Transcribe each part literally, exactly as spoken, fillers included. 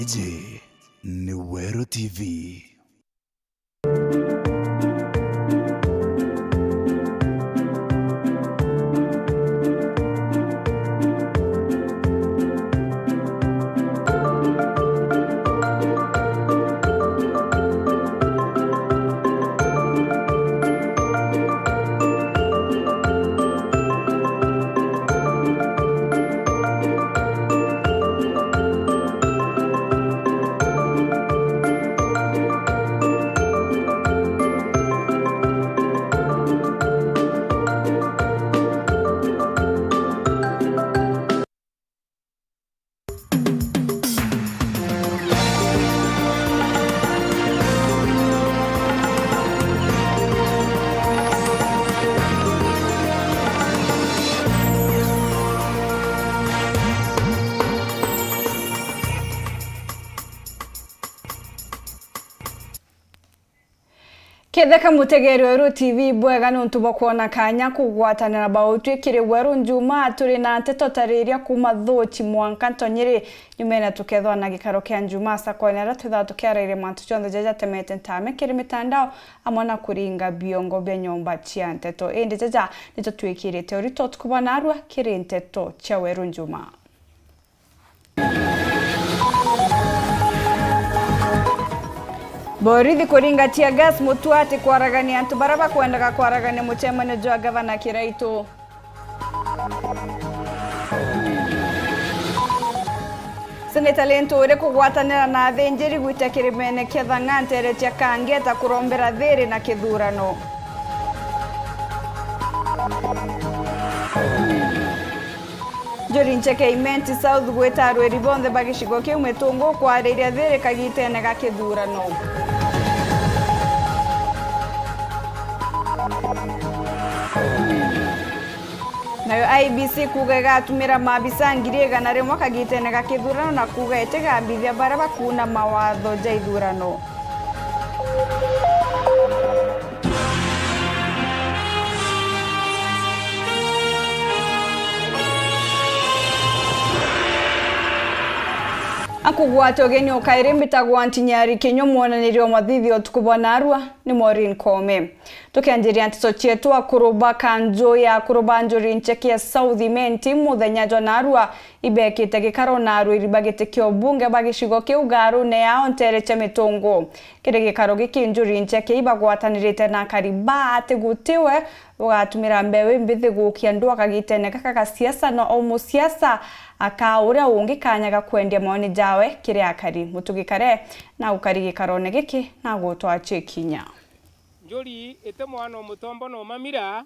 Iji ni Weru T V. Ketheka mutegeri wa Weru T V bwega niuntu bwa kwona kanya kugwatanira bautwi kiri Weru Njumaa, turi na nteto tariria kuuma Thuuchi mwanka Ntonyiri. Nyumene tukethwa na gikaro kia Njumaa sakoene aria twithaga tukiarairia mantu jonthe jaria jatemete ntame kiri mitandao amwe na kuringa biongo bia nyomba cia nteto. Indi jaja nito twikirite urito tukuba narua kiri nteto cia Weru Njumaa. Borithi kuringa tear gas mutuati kwaragania antu baria bakwendaga kwaragania mucemanio jwa gavana Kiraitu. Seneta Linturi kugwatanira na athinjiri gwita kirimene kia Thang'a nteere cia Kangeta kurombera thiiri na kithurano. Njuri Ncheke Imenti South gwita arwiri bonthe ba gicigo kiu mitungu kwariria thiiri kagitene ga kithurano. Nayo I E B C kuuga igatumira maabisa ngiri igana rimwe kagitene ga kithurano na kuuga itigambithia baria bakuuna mawatho ja ithurano. Akugwata ugeni o kairi mbitagwa Ntinyari Kinyua, mwonaniria wa mathithio utuku bwa narua ni Maureen Koome. Tukianjiria nteto cietu, akuru ba kanju ya akuru ba Njuri Ncheke ya South Imenti muthenya jwa narua ibekite gikaro na arwiri ba giti kia ubunge ba gicigo kiu garune yao nteere cia Mitungu. Kiri gikaro giki Njuri Ncheke ibagwatanirite na akari ba ati gutiwe ugatumira mbeu imbithi gukia ndwaka gitene gaka ga siasa, na o musiasa akaa uria ungi kanya ga kwendia mawoni jawe kiri akari. Mutugi Kare na ukari gikarone giki na gutwachia kinya. Njuri iti mwana o mutombo na umamira,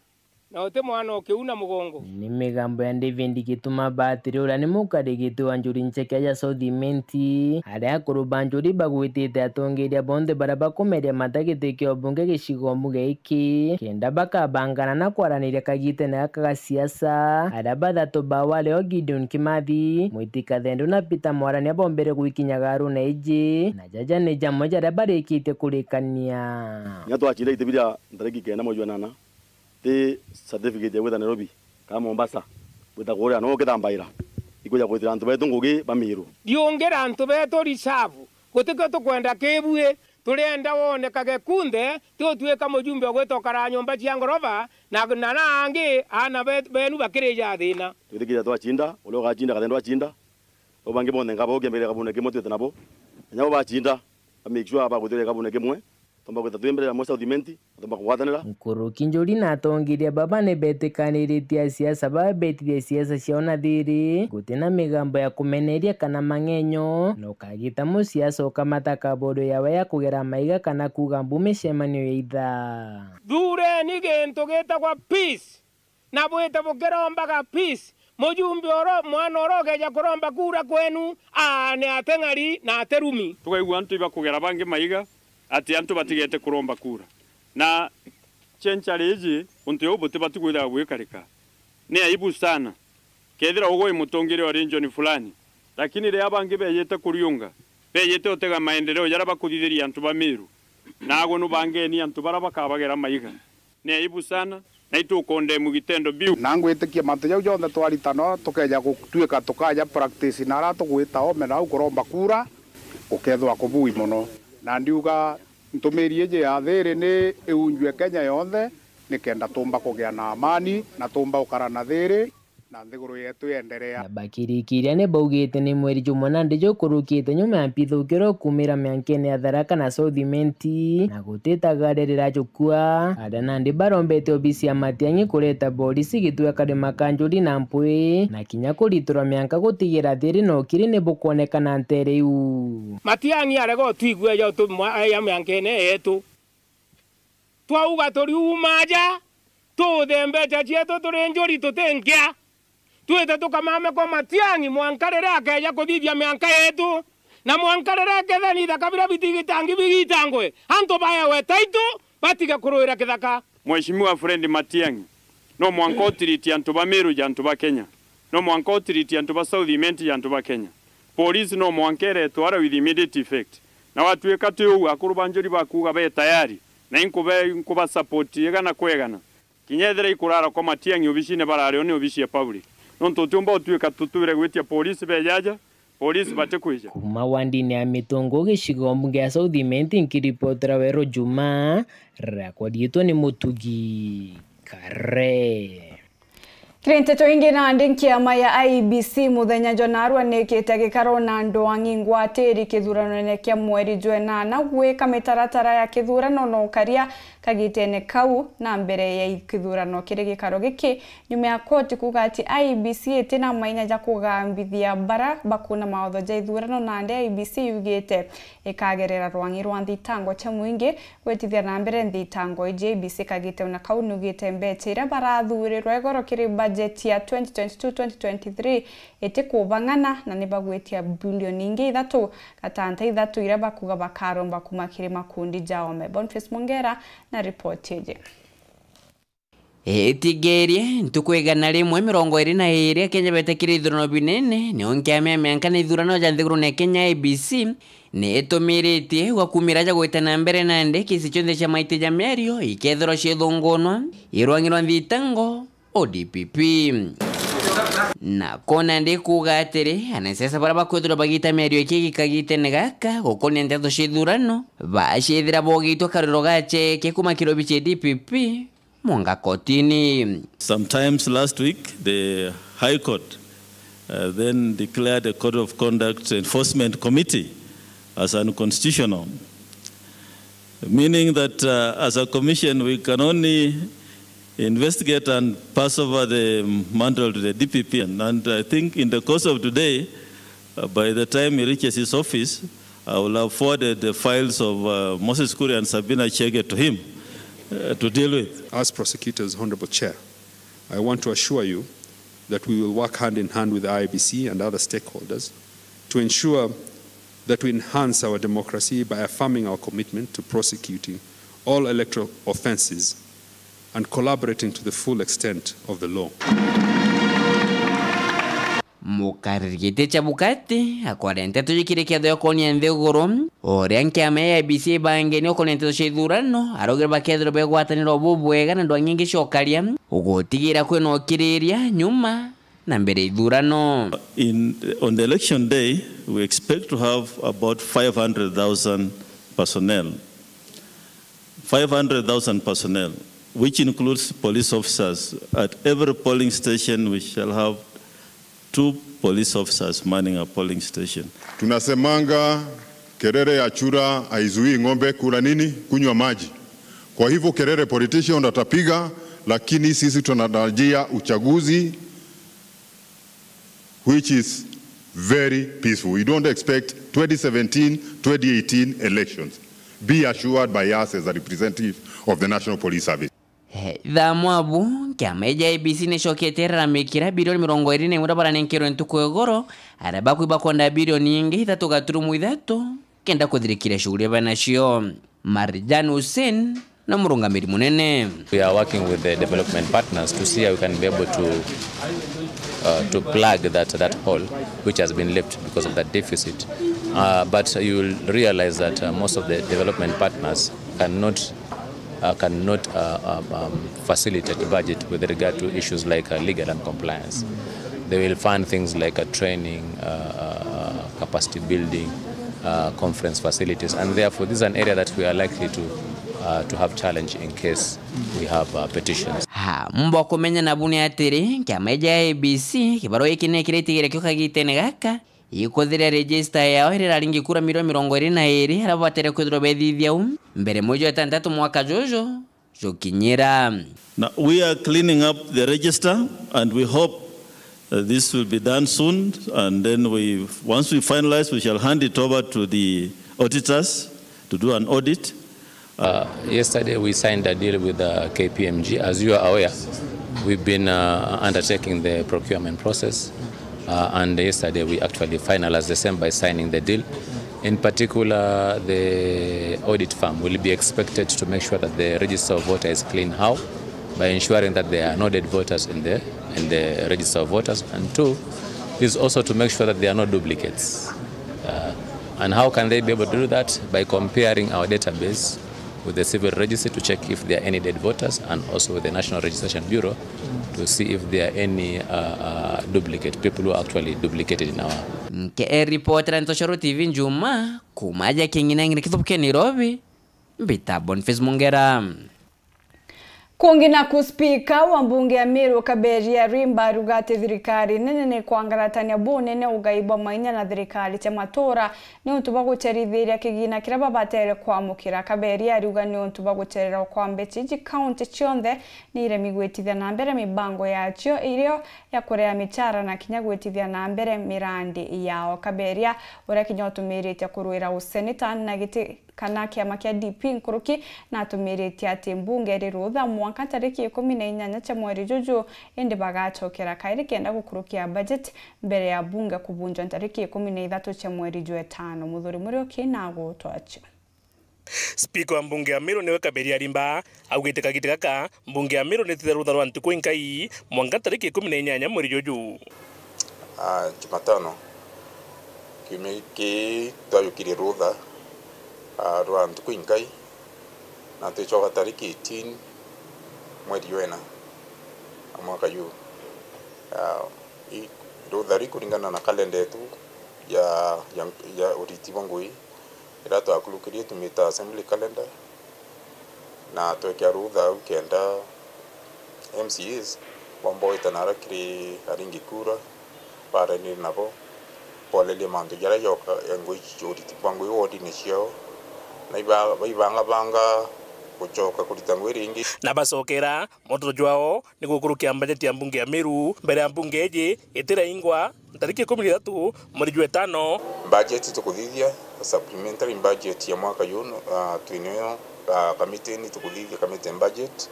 na uti mwana o kiuna mugongo. Ni migambo ya David Gituma Batiri, uria ni mukari giti wa Njuri Ncheke ya South Imenti, aria akuru ba Njuri bagwitite atongeria bonthe baria bakumeria mata giti kia ubunge gicigo mbunge giki, kenda bakabangana na kwaraniria kagitene gaka ga siasa, aria bathatu bao ari o Gideon Kimathi, Mwiti Kathendu na Peter Mwarania bombere gwikinya garune iji, na jaja ni jamwe jaria barikitie kurikania. Kinya twacinda iti biria ntariki kenda mweri jwa nana, ti certificate ya gwita Nairobi kana Mombasa, gwita kuria no ukithambaira, ikwija kwitira antu betu ngugi ba Miru. Ndiungira antu betu reserve, gutikio tukwenda kibui, turienda wonekage kunthe, ti utwika mujumbe ugwita ukara nyomba cia ngoroba, na, na, na angi aana be-, benu bakirija thina. Twitikiria twacinda, uria ugacinda Kathendu acinda, au bangi bonthe nkaba ukiambiriria kabune kimwe twite nabo. Kinya bo bacinda, ba make sure bagwitiria kabune kimwe, Tumba gwita twi mbere ya Musa Uthimenti, na tumba kugwatanira. Nkuruki Njuri na atongeria baba ni betikaniritie asiasa baba betithia siasa ciao na thiri, guti na migambo ya kumeneria kana mang'enyo, na ukagita musiasa ukamata kabodo yawe ya kugera maiga kana kuuga mbu micemanio ya itha. Thureni gintu gitagwa peace. Na bwite bukirombaga peace. Mujumbe oro, mwana oro ugeja kuromba kura kwenu, aa, ni ateng'ari na aterumi. Tukaigua antu ibakugera bangi maiga ati antu batigete kuromba kura. Na cenchari iji, untu uu butibati kwithirwa bwikarika. Ni aibu sana. Kethira ugwe wi mutongeria wa region fulani, lakini riria bangi bejite kuriunga, bejite utega maendeleo jaria bakuthithiria antu ba Meru, nagwe nubangeni antu baria bakabagera maiga. Ni aibu sana, na itukondemu gitendo biu. Na ngwitikia mantu jau jonthe twarita no tukeja gutuika tukaja practice na aria tugwita ome nau kuromba kura, Gukethwa kubui mono. Na ndiuga ntumiri iji ya thiri ni iunjue Kenya yonthe, nikenda tumba kugia na amani na tumba ukara na thiri na nthiguru yetu yenderea. Na bakirikiria ni baugite ni mweri jumwe nandi jukurukite nyuma ya mpithukiro kumira miankene ya Tharaka na South Imenti, na gutitagarira jukua. Aria nandi barombete obisi ya Matiang'i kureta borisi gitweka ri makanjuri na mpwi, na kinya kuriturwa mianka gutigira thiri na ukiri ni bukwonekana ntere iu. Matiang'i arega utwigua ja utu-, mwa-, ya miankene yetu. Twauga turiuma aja, tuthembecha cietu turi njuri tuti nkia. Twite tukamame kwa Matiang'i mwanka riria akeja kuthithia mianka yetu, na mwanka riria akethani ithaka biria bitigitangi bigitangwe, antu baewe taitu, batige kuruira kithaka. Mheshimiwa Fred Matiang'i, no mwanka utiritie antu ba Meru ja antu ba Kenya. No mwanka utiritie antu ba South Imenti ja antu ba Kenya. Polisi no mwanka iretwe ara with immediate effect. Na watwika ti uu, akuru ba njuri bakuuga be tayari, na inkube-, inkuba support igana kwa igana. Kinya ethira ikurara kwa Matiang'i obicine barario ni obici ya public. Nontu utiumba utwika tutwire gwitia polisi bejaja, polisi batikwija. Kuma wandini ya Mitungu, gicigo mbunge ya South Imenti, nkiripotera Weru Juma, riakwa riitwa ni Mutugi Kare. Kiri nteto ingi, nandi nkiama ya I E B C muthenya jwa narua nikite gikaro na andu ang'i ngwatiri kithuranone kia mweri jwa enana gwika mitaratara ya kithurano na ukaria kagitene kau na mbere ya kithurano kiri gikaro giki, nyuma ya koti kuuga ati I E B C itina mainya ja kugambithia bara bakuna mawatho ja ithurano, nandi I E B C yugite ikagerera rwang'i rwa nthitango cia mwingi gwitithia na mbere nthitango iji. I E B C kagite ona kau nugite mbecha iria barathurirwa igoro kiri bajeti ya twenty twenty-two twenty twenty-three itikubang'ana na nibagwitia bilioni ingi ithatu gatanta ithatu iria bakuga bakaromba kuma kiri makundi ja oome. Boniface Mongera na ripoti iji. Itigerie ntuku igana rimwe mirongo iri na iri Akenya betekire ithurano binene, nio nkiama ya mianka na ithurano ja nthigurune ya Kenya I E B C ni itumiritie gwa kumira ja gwita na mbere nandi kesi cionthe cia maiti ja miario ikethirwa ciithungunwa i rwang'i rwa nthitango O D P P. Na ko nandi kuuga atiri, anasiasa baria bakwithirwa bagita miario iki gikagitene gaka gukonia nteto cia ithurano, baciithira bogitwe kariro gacheke kuma kiri obici ya D P P, mwanka kotini. Sometimes last week, the High Court, uh, then declared a Code of Conduct Enforcement Committee as unconstitutional, meaning that, uh, as a commission, we can only investigate and pass over the mantle to the D P P. And, and I think in the course of today, uh, by the time he reaches his office, I will have forwarded the files of, uh, Moses Kuria and Sabina Chege to him, uh, to deal with. As prosecutors, Honorable Chair, I want to assure you that we will work hand in hand with I E B C and other stakeholders to ensure that we enhance our democracy by affirming our commitment to prosecuting all electoral offences and collaborating to the full extent of the law. Mukariri giti Chebukati akwaria nteto jikiri kiatho ya kuonia nthiguru uria nkiama ya I E B C ibangene ukonia nteto cia ithurano, araugire bakethirwa begwatanira bubwega na ndwang'i ingi cia ukaria, gutigira kwina ukiriria nyuma na mbere ya ithurano. In, on the election day, we expect to have about five hundred thousand personnel. Five hundred thousand personnel, which includes police officers. At every polling station, we shall have two police officers manning a polling station. Tunasemanga, kelele ya chura haizuii ng'ombe kula nini? Kunywa maji. Kwa hivyo, kelele politician atapiga, lakini sisi tunatarajia uchaguzi which is very peaceful. We don't expect twenty seventeen, twenty eighteen elections. Be assured by us as a representative of the National Police Service. Eh, thaa mwabu, kiama ja I E B C nicokete iraramikira bilioni mirongo iri na imwe iria baranenkerwe ntuku igoro, aria bakui bakwenda bilioni ingi ithatu gaturumo ithatu kenda kuthirikiria shughuli benacio. Marjan Hussein na murungamiri munene. We are working with the development partners to see how we can be able to, uh, to plug that, that hole which has been left because of that deficit. Uh, but you will realize that, uh, most of the development partners cannot, uh, cannot, uh, um, um, facilitate budget with regard to issues like, uh, legal and compliance. They will fund things like, uh, training, uh, uh, uh, capacity building, uh, conference facilities, and therefore this is an area that we are likely to, uh, to have challenge in case we have, uh, petitions. Ha, mbo kumenya nabu ni atiri, kiama ja A I E B C, kibarua giki ni kiritigire kio kagitene gaka, ikuthire register yao iria iraringi kura milioni mirongo iri na iri, aria babatere kwithirwa bethithia u mbere mweri jwa itantatu mwaka juju jukinyira. Now, we are cleaning up the register and we hope, uh, this will be done soon, and then we, once we finalize, we shall hand it over to the auditors to do an audit. Uh, yesterday we signed a deal with, uh, K P M G. As you are aware, we've been, uh, undertaking the procurement process, uh, and yesterday we actually finalized the same by signing the deal. In particular, the audit firm will be expected to make sure that the register of voter is clean. How? By ensuring that there are no dead voters in the, in the register of voters, and two is also to make sure that there are no duplicates. Uh, and how can they be able to do that? By comparing our database with the civil registry to check if there are any dead voters, and also with the National Registration Bureau to see if there are any, uh, uh, duplicate people who are actually duplicated in our. Nke e reporter Ntoshoro T V Njuma, kuma ja King'ina ng'ina kithubu kia Nairobi, mbita Boniface Mungera. Kungi naku, spika wa mbunge ya Meru Kaberia Rimba aruga ati thirikari nene ni kwangaratania bunene ugai bwa mainya na thirikari cia matura niuntu bwa gucerithiria kigina kiria babatere kwamukira. Kaberia ariuga niuntu bwa gucererwa kwa mbeca iji, kaunti cionthe ni iremi gwitithia na mbere mibango yacio irio ya kurea micara na kinya gwitithia na mbere mirandi yao. Kaberia, uria kinya utumiritie kurwira useneta na giti kana kiama kia D P nkuruki, natumiritie ati mbunge iri rutha mwanka tariki ikumi na inyanya cia mweri juju, indi bagacokera kairi kenda gukurukia budget mbere ya bunge kubunjwa tariki ikumi na ithatu cia mweri jwa itano. Muthuri Muriuki na agutwacio. Spika wa mbunge ya Meru niwe Kaberia Rimba augite kagita gaka mbunge ya Meru nitite rutha rwa ntuku inkai mwanka tariki ikumi na inyanya mweri juju. Ah, Jumatano, kiumia giki twajukirie rutha, ah, rwa ntuku inkai, na twicoka tariki eighteen mweri jwa ina na mwaka juu. Ah, i-, rutha ri kuringana na kalenda yetu ya, ya, ya uriti bwa ngui, iria twakurukirie tumita assembly calendar, na twekea rutha au kenda M C As bomba gwita nara kiri aringi kura, baranire nabo, borerie mantu jaria joka, ngui, uriti bwa ngui wodine ciao, na iba-, baibangabanga gucoka kurita ngui ringi. Na bacokera moto jwao ni gukurukia mbajeti ya mbunge ya Meru mbere ya mbunge iji itiraingwa ntariki ikumi na ithatu mweri jwa itano. Mbajeti tukuthithia, supplementary budget ya mwaka yu, ah, twinio, ah, kamitini tukuthithia committee budget.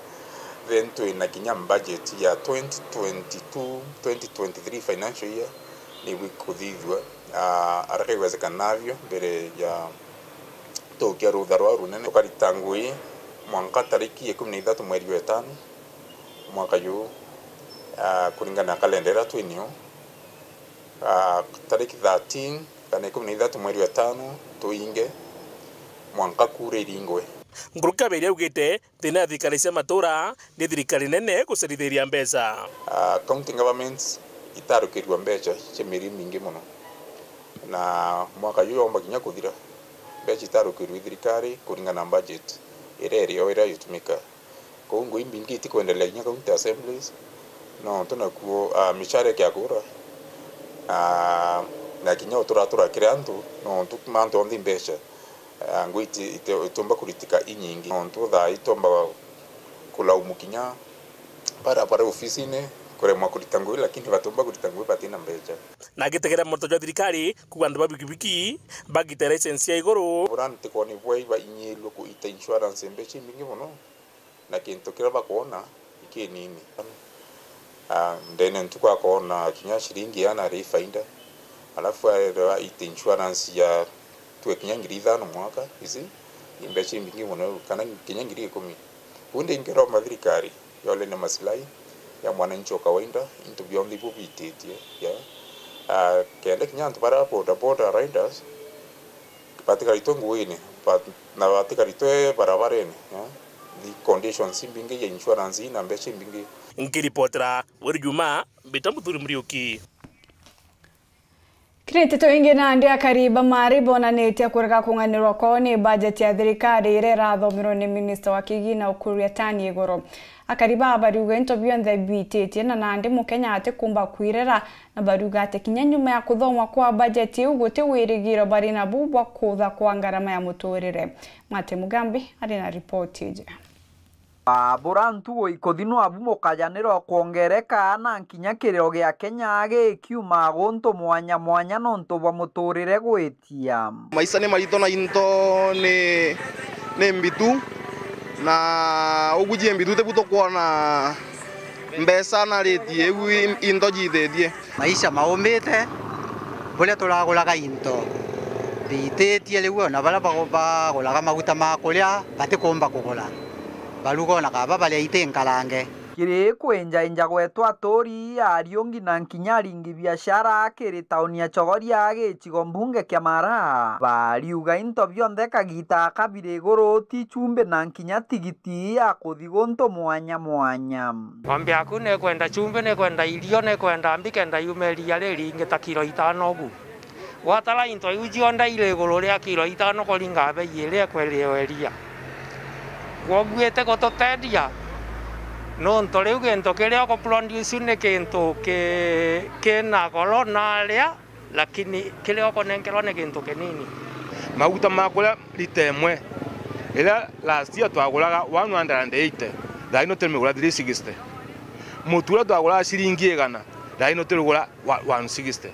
Then twina kinya budget ya twenty twenty-two, twenty twenty-three financial year ni bwikuthithua, ah, aria kaiwezekana nabio mbere ya tukia rutha rwa runene. Tukarita ngui mwanka tariki ikumi na ithatu mweri jwa itano mwaka yu, ah, kuringana na kalenda iria twinio. Ah, tariki thirteen kana ikumi na ithatu mweri wa itano tuinge mwanka kura iringwe. Nkuruki Kaberia augite thina ya thirikari cia matura ni thirikari nene gucerithiria mbeca. Ah, county governments itarukirua mbeca cia mieri mingi mono, na mwaka uyu yomba kinya kuthira, mbeca itarukirua i thirikari kuringana na budget iria irio iria yutumika. Kou ngui imbingi itikwendelea kinya county assemblies, nontu nakuo, ah, micara ikiagura, ah, na kinya uturatura kiri antu, nontu mantu onthe i mbeca. Ah, ngui iti-, iti-, itiumba kuritika inyingi, nontu thaa ii itiumba kulaumu kinya bara, bara ofisine kuremwa kurita ngui, lakini batiumba kurita ngui batina mbeca. Na agitegera moto jwa thirikari kuuga antu ba bikibiki bagite license ya iguru. Bura ntikwona ibwa iba inyirue kuita insurance mbeca imbingi mono. Na kintu kiria bakwona ikinini. Ah, ndene ntuku akoona kinya ciringi iana ri faida, alafu arewa ite insurance ya tue kinya ngiri ithano mwaka, ici ni mbeca imbingi mono, kana kinya ngiri ikumi. Uu ndingiromba thirikari yole ni maslahi ya mwananchi wa kawaida, into bionthe ibu bititie, yeah. Ah, kenda kinya antu bara boda boda riders, batikaritwe nguine, bat-, na batikaritwe barabarene, eh? The conditions imbingi ya insurance ina mbeca imbingi. Nkiripotera Weri Juma, mbita Muthuri Muriuki. Kiri nteto ingi, nandi akari ba Maari bonanitie kurega kung'anirwa kwao ni bajeti ya thirikari iria irathomirwe ni minista wa kigina Ukur Yatani iguru. Akari baa bariuga into bionthe biititie na nandi Mukenya atikumba kwirera, na bariuga ati kinya nyuma ya kuthomwa kwa bajeti iu guti wirigiro bari nabu bwa kutha kwa ngarama ya muturire. Mate Mugambi ari na ripoti iji. Baabura ntugo ikuthi nwabu mukajanira ukwongereka, na nkinya kiriro gia Kenya gikiuma guntu mwanya mwanya nontu bwa muturire gwitia. Maisha ni marito na into ni, ni mbitu, na uguji mbitu tibu tukwona mbeca na rate iu i-, into jithitie. Maisha maumite, buria turaguraga into biititie, riu ona baria bagu-, baguraga maguta ma kuria batikumba kugura, baruga ona kaba baria iti nkarange. Kiri kwinjainja gwetu aturi, Ariungi na nkinya aringi biashara kiri tauni ya Chogoria gicigo mbunge kia Mara, bariuga into bionthe kagita kabiri iguru ti chumbi na nkinya tigiti ya kuthi guntu mwanya mwanya. Ng'ombe yaku nikwenda chumbi, nikwenda irio, nikwenda mbi, kenda yume iria riringi ta kilo itano ugu. Gwatara into iu cionthe iri iguru ria kilo itano kuringa bei iria ikwenderio iria. Kwoguo iti gututeethia, nontu riu gintu kiria uguproduce ni gintu ki-, kina goro na aria, lakini kiria ukunenkerwa ni gintu kinini. Maguta ma kuria lita imwe, iria last year twaguraga one hundred and eighty, thaa ino turimigura three sixty. Mutu uria twaguraga ciringi igana, thaa ino turigura wa-, one sixty.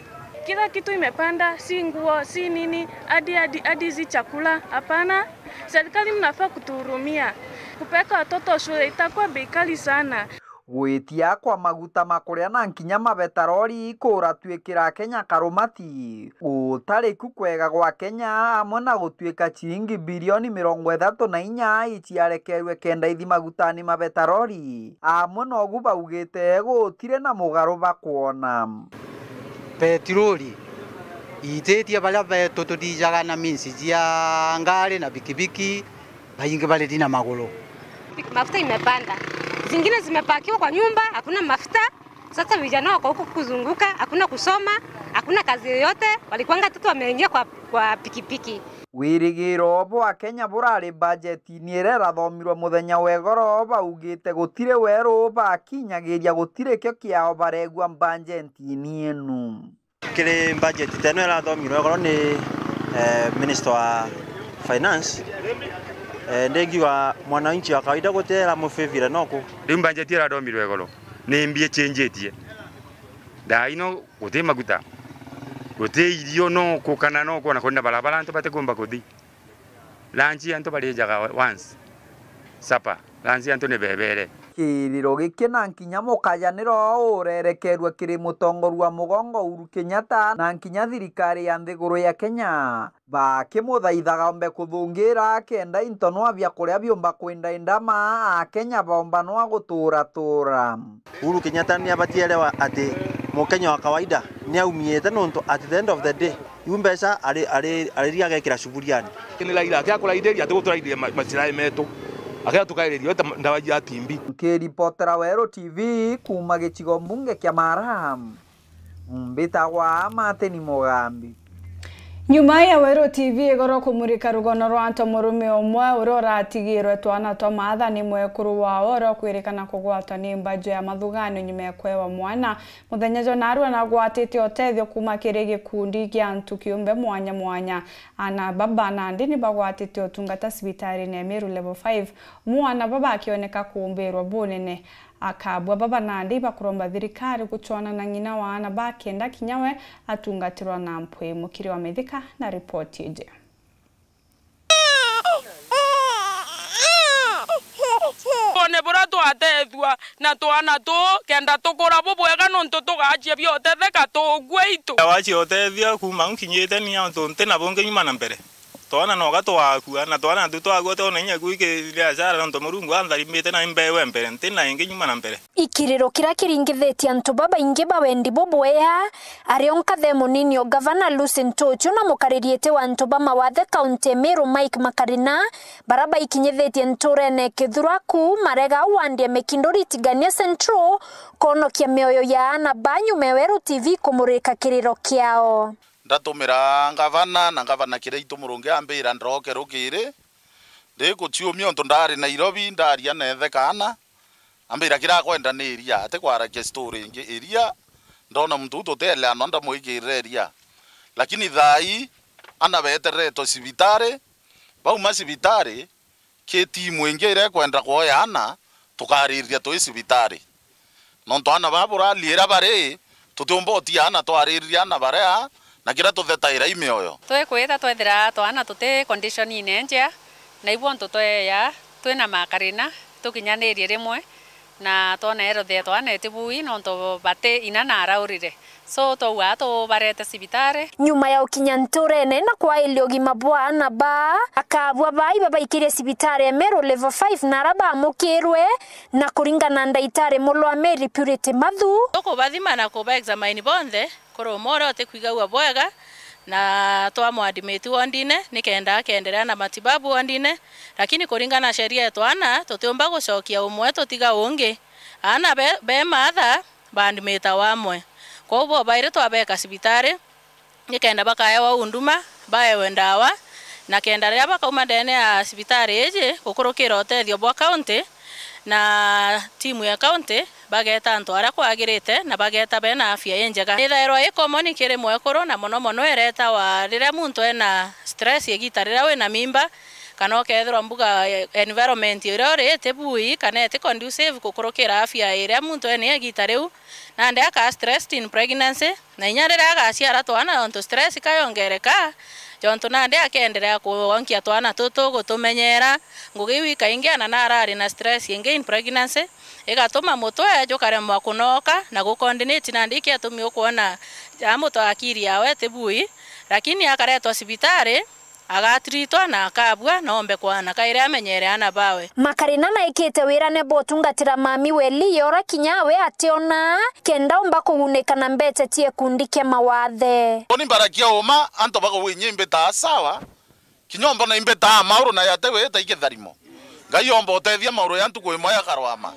Kila kitu imepanda, si nguo, si nini, hadi, hadi, hadi hizi chakula, hapana. Serikali mnafaa kutuhurumia. Kupeleka watoto shule itakuwa bei kali sana. Gwitia kwa maguta ma kuria na nkinya mabetarori kuratuikira Kenya karumati. Gutari ku kwega gwa Kenya, amwe na gutuika ciringi bilioni mirongo ithatu na inya iciarekerwe kenda ithi magutani ma betarori, amwe nogu baugite gutiri na mugaru bakwona. Petroli iititie baria betu tuthijaga na minsi cia ngari na bikibiki, baingi bariri na maguru. Mafuta imepanda, zingine zimepakiwa kwa nyumba, hakuna mafuta. Sasa vijana wako huku kuzunguka, hakuna kusoma, hakuna kazi yoyote. Walikuanga tu wameingia kwa, kwa pikipiki. Wirigiro bwa Kenya burari bajeti ni iria irathomirwe muthenya wa igoro, baugite gutiri weru bakinyagiria, gutiri kio kiao baregua bajeti-ini inu. Kiri bajeti teno irathomirwe igoro ni, eh, Minister wa Finance, eh, ndingiuga mwananchi wa kawaida gutira mufivire noku. Riu bajeti irathomirwe igoro ni mbi ichenjitie. Thaa ino guti maguta, guti irio noku kana noku, ona kwina barabara antu batikumba kuthi. Lunch antu barijaga once. Supper, lunch antu ni bebere. Kiriro giki na nkinya mukajaniro urerekerua kiri mutongoria wa mugongo Uhuru Kenyatta na nkinya thirikari ya nthiguru ya Kenya, bakimuthaithaga ombe kuthungira kenda into nwa bia kuria biumba kwindaindama, Akenya baumba nwa gutura tura. Uhuru Kenyatta ni abatiĩ erewa ati Mukenya wa kawaida ni aumiite, nontu at the end of the day, iu mbeca ari, ari, ariria agekira cuburiani. Ni Raila, akia kuraithiria, ati guturaithiria ma-, macirai metu. Akia tukairiria, weta ndawa ya T B. Nkiripotera Weru T V kuuma gicigo mbunge kia Mara, mbitagwa Martin Mugambi. Nyuma ya Weru T V igoro kumurika rugono rwa antu murume umwe uria uratigirwe twana twa maatha ni mwekuru wao uria ukwirikana kugwatwa ni mbaju ya mathuganio nyuma ya kwewa mwana, muthenya jwa narua nagwatite utethio kuuma kiri gikundi kia antu kiumbe mwanya mwanya. Ana baba nandi ni bagwatite utungata cibitarine ya Meru Level five, mwana baba akioneka kuumbirwa bunene. Akabua baba nandi bakuromba thirikari guchwana na ng'ina wa ana ba kenda kinya we atungatirwa na mpwi. Mukiri wa Mithika na ripoti iji. One buria twatethua na twana tuu kenda tukura bubwega, nontu tugaachia biotetheka tugwe itu. Waachia utethia kuuma nkinyite ni antu nti na bungi nyuma na mbere. Twana noga twakua, na twana tu twakua twona inya gwiki biashara, nontu Murungu antharimite na imbewe mbere, nti na ingi nyuma na mbere. Ikiriro kiria kiringithitie antu babaingi ba wendi bubwea, ario nkathe munini o Gavana Lucy Ntuchu na mukaririete wa antu ba mawathe kaunti ya Meru Mike Makarina, baria baikinyithitie nturene Kithuraku, marega wandi ya Mikinduri Tigania Central, kwonokia mioyo ya ana ba nyuma ya Weru T V kumurika kiriro kiao. Ndatumira ngavana, na ngavana Kiraitu Murungi ambira ndoke rukiri, ndikuciumia untu ndari Nairobi, ndaria na ithe kaana, ambira, "Kiria akwenda ni iria, atikwaragia story ingi, iria." Ndona muntu uu tutieleanwa, ndamwikirira iria. Lakini thaa ii, ana betereretwe cibitari, bauma cibitari, ki timu ingi iria ikwenda kwoya ana, tukaririria twi cibitari. Nontu ana baa burali iria bari, tutiumba utia ana twaririria ana baria, na kiria tuthetaira i mioyo. Twikwita twethira twana tuti condition inenjea, na ibu untu tweya twina makarina, tukinyanirie rimwe, na twona health ya twana itibui nontu bati ina na araurire. So, twauga tubarete cibitari. Nyuma ya ukinya nturene na kwairia ugima bwa ana baa, akabua baa ibabaikirie cibitari ya Meru Level five na ara bamukirwe, na kuringana na ndaitari Mulwa Mary Purity Mathu. Tukubathima na kuba examine bonthe, kuri umwe uria utikwigagua bwega, na twamu admit wondine, nikenda akenderea na matibabu wondine, lakini kuringana na sheria yetu ana, tutiumba gucokia umwe tutiga ungi. Ana be, be maatha, baadmitawa amwe. Kwou bo bairi twabeka cibitari, nikenda bakaewa unduma, baewe ndawa, na kenda riria bakauma ndene ya cibitari iji, gukurukira utethio bwa county, na timu ya county, bageta antu aria kwagirite, na bageta bena afya injega. Ithairwa i common kiri mwekuru, na mono mono iretawa riria muntu ena stress igita riria wina mimba, kana ukethirwa mbuga, eh, environment iria uri iti bui, kana iti conducive gukurukira afya iria muntu ena igita riu. Nandi aka stressed in pregnancy, na inya riria agaciara twana, nontu stress kayongereka, jontu nandi akenderea kuonkia twana tutu, gutumenyera. Ngugi iu ikaingi ana narari na stress ingi in pregnancy, igatuma mutwe jukaremwa kunoka na gucoordinate, nandi ikiatumi ukwona ja muntu akiri yawe iti bui, lakini akaretwa cibitari, agatritwa na akabua, na ombe kwana kairi amenyere ana bawe. Makarina naikite wirane bwa utungatira mami Weli yora kinya we ationa, kenda omba kugunika na mbecha cia gikundi kia mawathe. Uni mbarakia uma, antu bagwinyia imbitaa sawa, kinya ombona imbitaa mauru na yate wita ikitharimo. Ngai omba utethia mauru ya ntuku imwe yakarwama.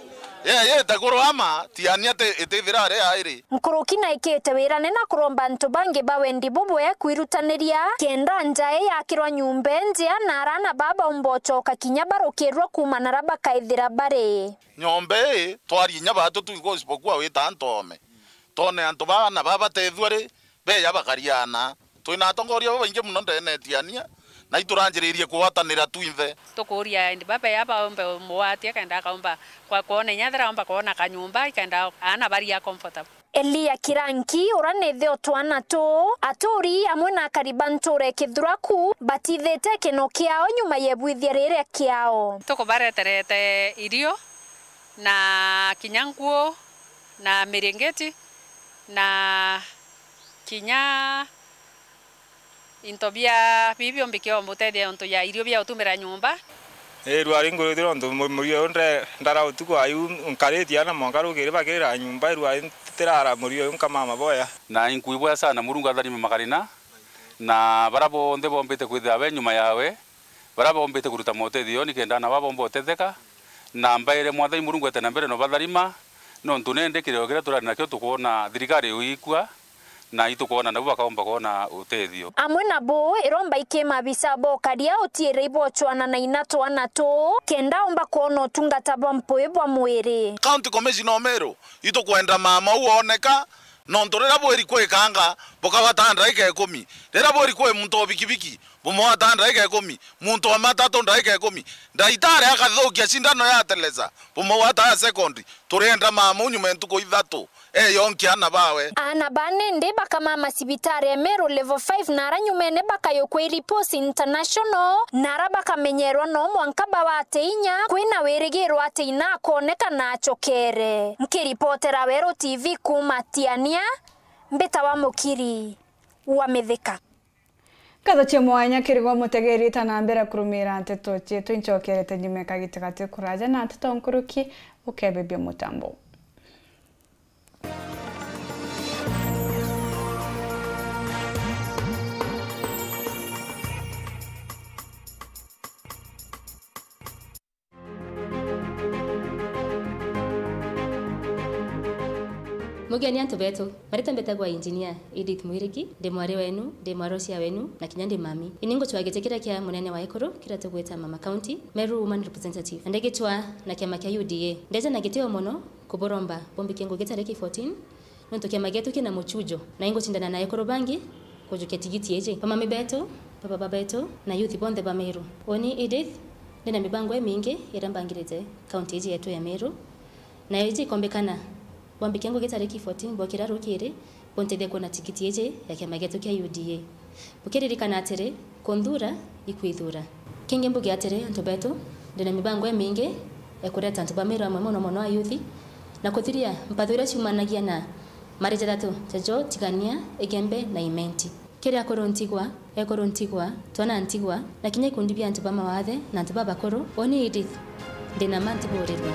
Ye yite kurwama, tiania ati itithira ari airi. Nkuruki naikite wirane na kuromba antu bangi ba wendi bubwe kwirutaniria, kenda nja ii yakirwa nyumba injea na arana baa baumba ucoka kinya barukirua kuuma nara bakaithira bari. Nyomba ii, twarie inya baatu tu gospel kuwa wita antu ome. Twone antu baa na baa batethua ri, beja bakariana. Twina atongoria babaingi mono ndene etiania, na ituranjiririe kugwatanira twinthe. Tukuuria endi babeya baumbe mugwati akenda akaumba kwa kwona inya thera aumba kwona kanyumba ikenda aana baria comfortable. Elia Kiranki, uria ni ithe o twana tu, aturi amwe na akari ba ntuura ya Kithuraku batithite kino kiao nyuma ya ibwithia riria kiao. Tukubareterete irio na kinya nguo na miringiti na kinya into bia bibi biombi kiomba utethia untu ya irio bia utumira nyumba. Ii, rwari ngurithira untu mu-, murio uyu nde-, ndara utuku ayu nkaritie ana mwanka rukiri bakirira nyumba, rwari ntirara murio uyu nkamama boya. Na inkuiboya sana Murungu atharime makarina, na bara bonthe bombite kwithira be nyuma yawe, bara bombite kuruta motethio nikenda ana baa bomba utetheka, na mbaire Mwathani Murungu ete na mbere no batharima, nontu nende kirio kiria turari nakio tukwona thirikari uikua, na itukwona nabo bakaomba kwona utethio. Amwe nabo iromba iki maabisa bokaria utiire ibochwana na ina twana tu, kenda omba kwona utungata bwa mpui bwa mwiri. County Commissioner o Meru, itukwenda mama u ooneka, nontu riria bwiri kwikanga, bukagwata ndaika ikumi. Riria bwiri kwi muntu o bikibiki, bumugwata ndaika ikumi. Muntu wa matatu ndaika ikumi. Ndaitari akathukia cindano ya teleza, bumugwata ya sekondi. Turienda mama u nyuma ya ntuku ithatu. Eyonkia ana bawe. Ana ba nindi bakamama cibitari ya Meru Level five na ara nyumene bakayukwa i Ripos International, na ara bakamenyerwa no mwanka bawate inya, kwina wirigiro ati ina akooneka na acokere. Nkiripotera Weru T V kuuma Tiania, mbitawa Mukiri wa Mithika. Nkatho cia mwanya kiri gwe mutegeri, ta na mbere kurumira nteto cietu, incokerete nyuma ya kagita gati kuraja na nteto nkuruki, ukebebia mutambo. Ugeni antu betu. Maritwa mbetagwa Engineer Edith Mwiriki, ndi mwari wenu, ndi mwarocia wenu, na kinya ndi mami. Ini ngucwaa giti kiria kia munene wa ekuru, kiria tugwita Mama County, Meru Woman Representative. Na ndigicwaa na kiama kia U D A. Ndeja na gitio mono kuburomba bumbikie ngugi tariki fourteen, nontu kiama gietu kina muchujo, na ingucindana na ekuru bangi kujukia tigiti iji. Bamami betu, bababa betu, na youth bonthe ba Meru. Uni Edith, ndina mibango imingi iria mbangirite kaunti iji yetu ya Meru, nayo iji ikombikana bwambikia ngugi tariki fourteen bwokira rukiri, buntethia kuona tigiti iji ya kiama gietu kia U D A. Bukiririkana atiri, kunthura ikwithura. Kingi mbuge atiri, antu betu, ndina mibango imingi ya kureta antu ba Meru amwe mono mono ayuthi, na kuthiria mpatho iria ciumanagia na mari jathatu jajo, Tigania, Igembe na Imenti. Kiri akuru ntigwa, ekuru ntigwa, twana ntigwa, na kinya ikundi bia antu ba mawathe na antu babakuru, uni Edith, ndina ma ntiburirwe.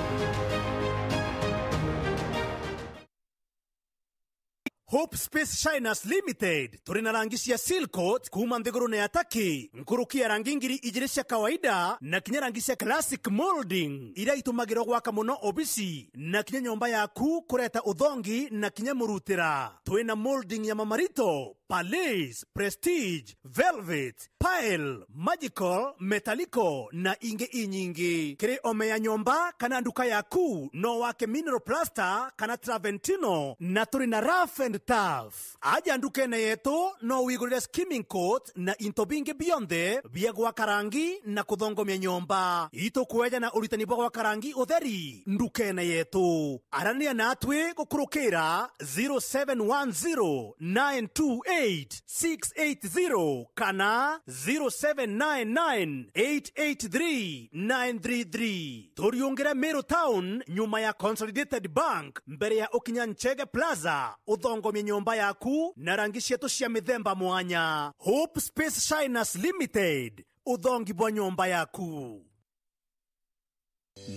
Hope Space Shiners Limited, turi na rangi cia Seal Coat kuuma nthigurune ya Turkey, nkuruki ya rangi ngiri ijiri cia kawaida, na kinya rangi cia classic molding, iria itumagirwa gwaka mono obisi, na kinya nyomba yaku kureta uthongi na kinya murutira. Twi na molding ya mamarito, Palace, Prestige, Velvet, Pile, Magical, Metallico na ingi inyingi. Kiri ome ya nyomba kana nduka yaku, no wake mineral plaster kana Travertino, na turi na rough and tough. Aja ndukene yetu, no wigurire skimming coat na into bingi bionthe bia gwaka rangi na kuthongomia nyomba. Itukueja na uritani bwa gwaka rangi utheri ndukene yetu. Arania natwi gukurukira zero seven one zero nine two eight six eight zero kana zero seven nine nine eight eight three nine three three. Turiungire Meru Town, nyuma ya Consolidated Bank, mbere ya ukinya Nchege Plaza, uthongomie nyomba yaku na rangi cietu cia mithemba mwanya. Hope Space Shiners Limited, uthongi bwa nyomba yaku.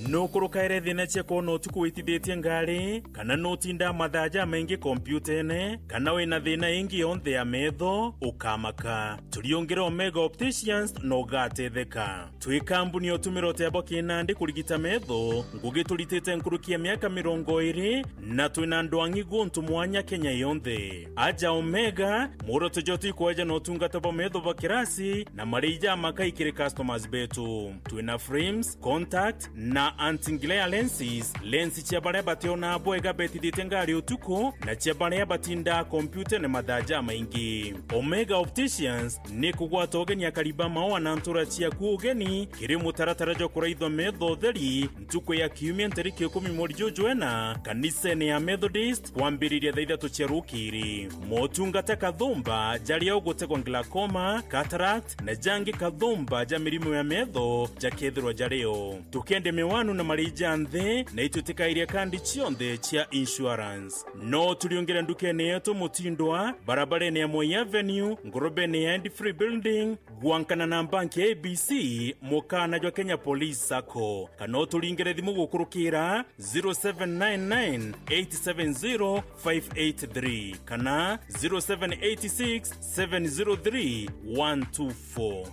Nukurukaire thina cia kwona utuku witithitie ngari, kana nutindaa mathaa jamaingi kompiutene, kana wina thina ingi yonthe ya metho, ukamaka. Turiungire Omega Opticians na ugatetheka. Twi kambuni ya utumira utebo kinandi kurigita metho, ngugi turitite nkuruki ya miaka mirongo iri, na twina ndwang'i guntu mwanya Kenya yonthe. Aja Omega, muoroto jwetu ikweja na utungata bwa metho bwa kirasi na marii jamakai kiri customers betu. Twina frames, contact na anti-glare lenses, lens cia baria bationaa bwega betithitie ngari utuku na cia baria batindaa kompyutene mathaa jamaingi. Omega Opticians ni kugwata ugeni akari ba maua na ntura ciaku ugeni kiri mutaratara jwa kuraithwa metho utheri ntuku ya kiumia ntariki ikumi mweri juju jwena kanisene ya Methodist kwambiriria thaa ithatu cia rukiri. Motungata kathumba jaria ugutegwa glaucoma, cataract, na jangi kathumba ja mirimo ya metho jakethirwa jario. Tukende miwanu na marii ja nthi, na itwitikairia kandi cionthe cia insurance. No turiungire ndukene yetu Mutindwa, barabarene ya Moi Avenue, ngurubene ya End Free Building, gwankana na banki ya A B C, mukana jwa Kenya Police Sacco. Kana uturingire thimu gukurukira zero seven nine nine eight seven zero five eight three kana zero seven eight six seven zero three one two four.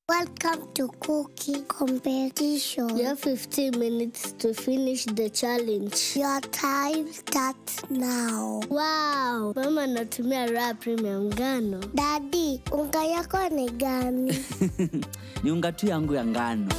Welcome to cooking competition. You have fifteen minutes to finish the challenge. Your time starts now. Wow, mama anatumia Raha Premium ngano. Daddy, unga yako ni gani? Ni unga tu yangu ya ngano.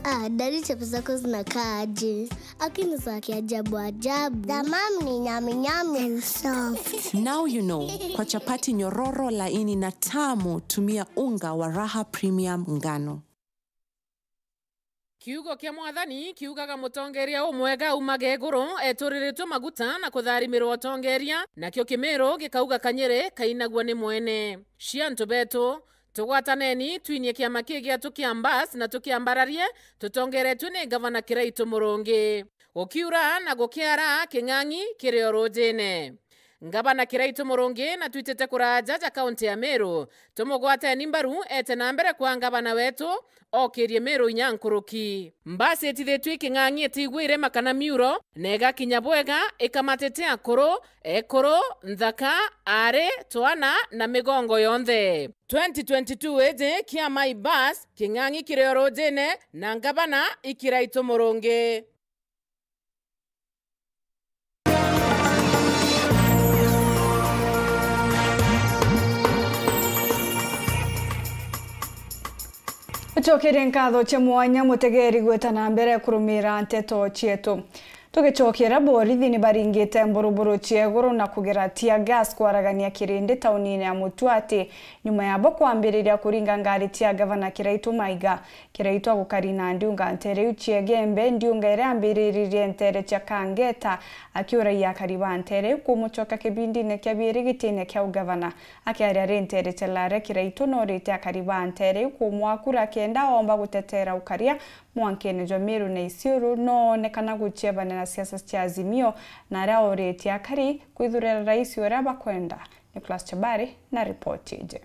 Ah, daddy, chapati zako zinakaa aje? Lakini za kiajabu ajabu. The mom ni nyami nyami and soft. Now you know, kwa chapati nyororo, laini na tamu, tumia unga wa Raha Premium ngano. Kiugo kia Mwathani kiugaga, mutongeria umwega aumaga iguru, eturiritwe maguta na kutharimirwa utongeria, nakio kimiru gikauga, kanyiri kainagua ni mwene. Cia antu betu, tugwataneni, twinie kiama kii gietu kia Mbas na tukiambararie, tutongeretue ni Gavana Kiraitu Murungi. Gukiura na gukiara, king'ang'i kiri o rujine. Ngavana Kiraitu Murungi na twitite kuraaja ja kaunti ya Meru, tumugwateni mbaru eete na mbere kwa ngavana wetu, ookirie Meru inya nkuruki. Mbasi itithitue iking'ang'i itiigwire makana miuro, na igakinya bwega, ikamatite akuru, ekuru, nthaka, aari, twana na migongo yonthe. Twenty twenty-two iji kia My Bus, king'ang'i kiri o ruujine, na ngavana i Kiraitu Murungi. Ucokerie nkatho cia mwanya mutegeri gwita na mbere kurumira nteto cietu. Tugicokera, borithi ni baringite mburuburu cia iguru na kugera tear gas kwaragania kirindi taunine ya Mutuati, nyuma yabo kwambiriria kuringa ngari cia Gavana Kiraitu Maiga. Kiraitu agukari na ndiunga nteere iu cia Igembe, ndiunga iria ambiriririe nteere cia Kangeta, akiuragia akari ba nteere iu kumucoka kibindine kia biiri gitine kia ugavana. Akiaria ari nteere cia Lare, Kiraitu noorite akari ba nteere iu kumwaa kura kenda oomba guteteera ukaria mwankene jwa Meru na Isiolo, noonekana guciebana na siasa cia Azimio, na aria ooritie akari kwithurira rais uria bakwenda. Nicholas Chabari na ripoti iji.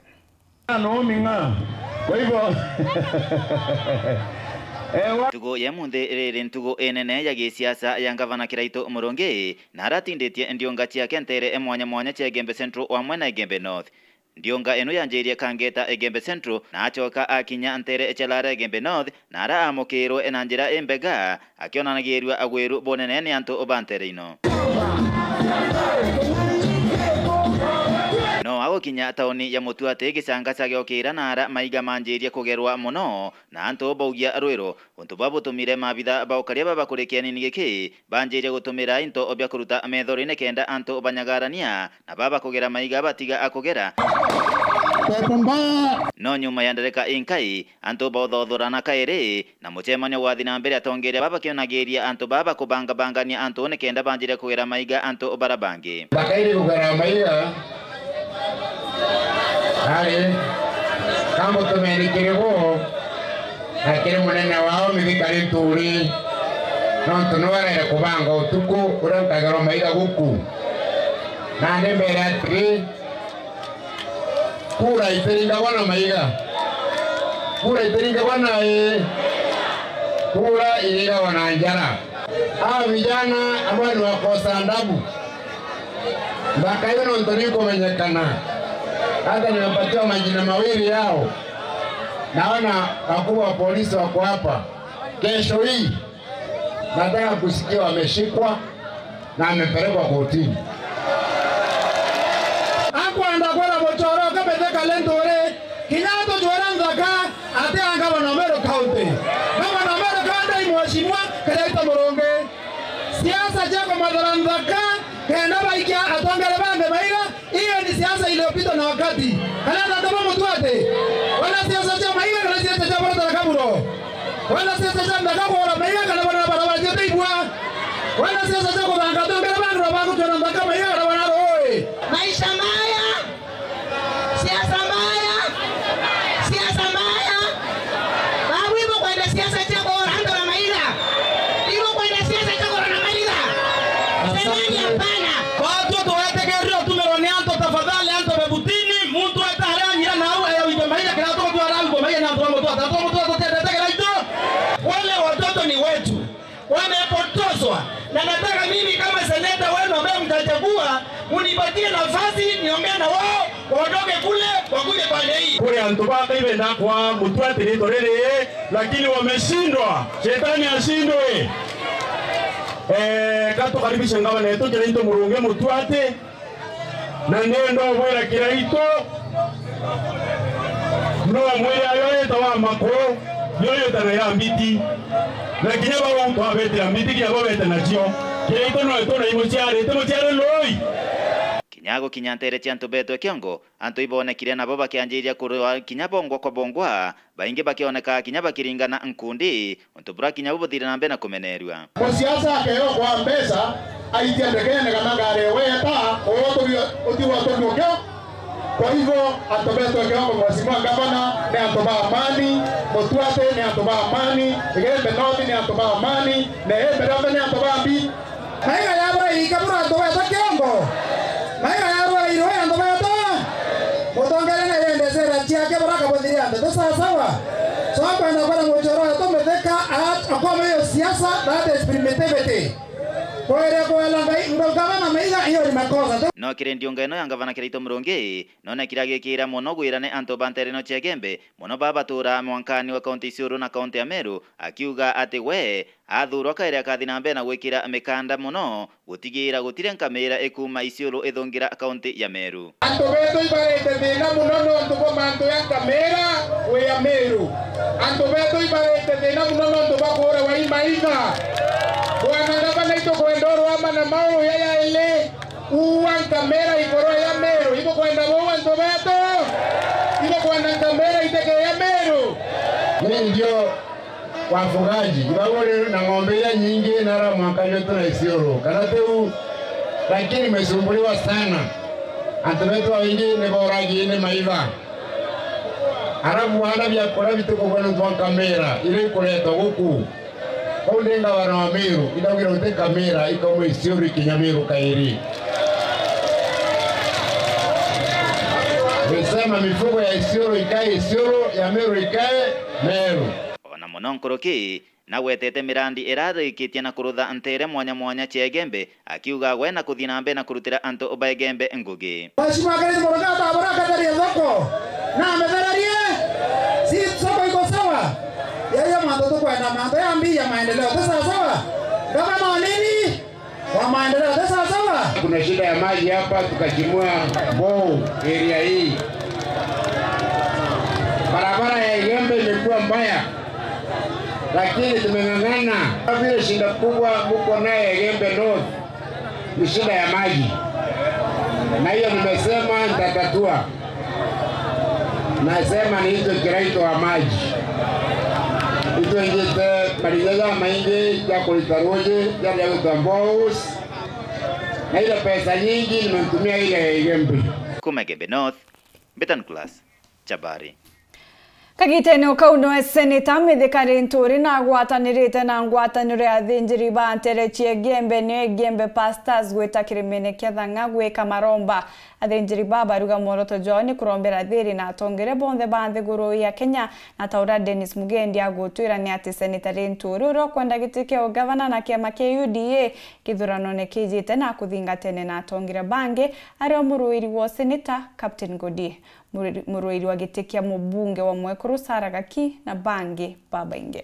Noo ming'a. Kwa hivyo, eh, wa- Ntugu ya munthi riri ntugu inene ya gisiasa ya Ngavana Kiraitu Murungi, na aratinditie ndiunga ciake nteere mwanya mwanya cia Igembe Central wamwe na Igembe North. Ndiunga ino yanjirie Kangeta Igembe Central, na acoka akinya nteere cia Lare Igembe North, na ara amukirwe na njira imbega, akionanagirua agwiru bunene ni antu ba nteere ino. No agukinya tauni ya Mutuati, gicangasa giokira na ara maiga manjirie kugerwa mono, na antu baugia rwiru. Untu bwa butumire maabitha ba ukaria baba kuri kianini giki banjirie gutumira into bia kuruta methori nikenda antu banyagarania, na baba kugera maiga batiga akugera. Pepo mbaya. No nyuma ya ndereka inkai, antu bauthothorana kairi, na mucemanio gwathi na mbere, atongeria baba bakionagiria antu baba kubangabangania antu nikenda banjire kugera maiga antu bara bangi. Bakairi kugera maiga, ari, kamutumeni kiri bo, na kiri munene wao mithikari nturi, nontu niwe arere kubanga utuku uria nkagerwa maiga guku. Nandi mbere atiri, kura itiringagwa na maiga. Kura itiringagwa na ii. Kura iringagwa na njara. Hawa vijana ambao ni wakosa adabu, nthaka hiyo nontu nikumenyekana. Hata nimepatiwa majina mawili yao. Naona wakubwa wa polisi wako hapa. Kesho hii, nataka kusikia wameshikwa na amepelekwa kotini. Akwenda kwira muchoro kamete kale nturi, kinya atujwira nthaka ati a ngavana wa Meru County. Ngavana wa Meru County i mheshimiwa Kiraitu Murungi. Siasa cia kumathara nthaka kenda baikia atongere bangi maiga, hiyo ni siasa iliyopitwa na wakati. Kana antu ba Mutuati, wanasiasa cia maiga kana siasa cia borotara kaburo? Wanasiasa cia nthaka kugura maiga kana bana barabara cia teibwa? Wanasiasa cia kuthanga atongere bangi na bagukiona nthaka maiga kana bana rui? Maisha maya. Siasa mbaya. Siasa mbaya. Babu ibo kwenda siasa cia kugura antu na maiga. Ibo kwenda siasa cia kugura na maiga. Semeni hapana. Watu tuwetekerire utumirwa ni antu, tafadhali, antu be butini, muntu weta aria anyira nau eya wite maiga, kira tuko twara wite maiga ni antu ba Mutuati, antu ba Mutuati tutiendete Kiraitu. Wale watoto ni wetu. Wamepotoshwa. Na nataka mimi kama seneta wenu ambaye mtachagua, munipatie nafasi niongee na wao, waondoke kule, wakuje pande hii. Kuri antu baka ibenda kwa Mutuati rito riri, lakini wameshindwa. Shetani ashindwe. Eh, katukaribishe ngavana yetu Kiraitu Murungi Mutuati. Na ndenda ubwira Kiraitu, no mwire ayo yeta wa makuru, yo yeta na ya mbiti. Na kinya bau twabetera mbiti, kinya bo bete nacio. Kiraitu no etu na imuciarite, muciare lui. Kinya gukinya ntere cia antu betwe kiongo, antu ibonekire nabo bakianjiria kurwa kinya bongwa kwa bongwa, baingi bakioneka kinya bakiringana nkundi, untu bura kinya bubuthire na mbere na kumenerua. Musiasa akeo kwa mbeca, aitia ndegene kana ngari ewe yeta, utigwa tugiokio. Kwa hivyo, antu betwe kiongo, Mheshimiwa Gavana, ni antu ba amani, Mutuati ni antu ba amani, Igembe North ni antu ba amani, na Embu ni antu ba mbi. Maiga yabo iika bura antu betwe kiongo. Kaira yarwairwe antu betu. Mutongeria na yende sera ciake baraka buthiria antu. Ti sawa sawa? So akwenda kwenda muchoro wetu Mithika, a-, akwama hiyo siasa, that is primitivity. Kwere kwela Ngai, ndo gavana maiga, hiyo ni makosa. No kiri ndiunga ino ya ngavana Kiraitu Murungi, nonekire agikira mono gwirane antu ba ntere ino cia Igembe, mono baa baturaa mwankani wa kaunti Isiolo na kaunti ya Meru, akiuga ati we athurwa kairi akathi na mbere na gwikira mikanda mono gutigira gutiri nkamira ikuuma Isiolo ithungira kaunti ya Meru. Antu betu ibarite thina mono nontu bwa mantu ya nkamira wi ya Meru. Antu betu ibarite thina mono nontu bwa kuurawa i maitha. Bwana ngavana, itukwenda urwama na mauru ya yaili. Uua nkamira ikorwa ya Meru. Ibukwenda buu antu betu? Ibukwenda nkamira itike ya Meru? Ni ndio wafugaji, ibagurire na ng'ombe iria nyingi na ara mwanka jwetu na Isiolo, kana tiu? Lakini imesumbuliwa sana. Antu betu baingi ni boragi ni maitha. Arabu baanda biakuria bitikugwa nontu bwa nkamira iria ikuretwa guku. Kou ndi ngavana wa Meru, indaugire guti nkamira ikauma Isiolo ikinya Meru kairi. Nisema mifugo ya Isiolo ikae Isiolo, ya Meru ikae Meru. Ona mono nkuruki, nagwetete mirandi irarikitie na kurutha ntere mwanya mwanya cia Igembe, akiuga we na kuthii na mbere na kurutira antu ba Igembe ngugi. Mheshimiwa Kenneth Murungi atabura akatheria thoko na amethererie, si soko iko sawa? Yaiyo mantu tukwenda, mantu ya mbi ya maendeleo, ti sawa sawa? Gavana wa nini? Wa maendeleo, ti sawa sawa? Kuna shida ya maji hapa, tukachimua borehole area hii. Barabara ya Igembe imekuwa mbaya, lakini tumeng'ang'ana. Vile shida kubwa muko naye Igembe North, ni shida ya maji, na hiyo nimesema nitatatua. Nasema niitwe Kiraitu wa maji. Itwinjite marinya jamaingi ja kurita ruuji jaria gwitwa boreholes, na ile pesa nyingi nimemtumia ile ya Igembe. Kuma Igembe North, Betan Class. Chabari. Kagitene o kau, noe Seneta Mithika Linturi na agwatanirite na ngwataniro ya athinjiri ba ntere cia Igembe, niyo Igembe Pastors, gwita kirimene kia Thang'a gwika maromba. Athinjiri ba baruga mworoto jwao ni kurombera thiri na atongeria bonthe ba nthiguru ya Kenya, na ta uria Dennis Mugendi agutwira ni ati Seneta Linturi, uria ukwenda giti kia ugavana na kiama kia U D A kithuranone kijite na kuthingatene na atongeria bangi, ari o muruiri wa seneta Captain Ngodi. Murui-, muruiri wa giti kia mubunge wa mwekuru Sarah Gaki na bangi babaingi.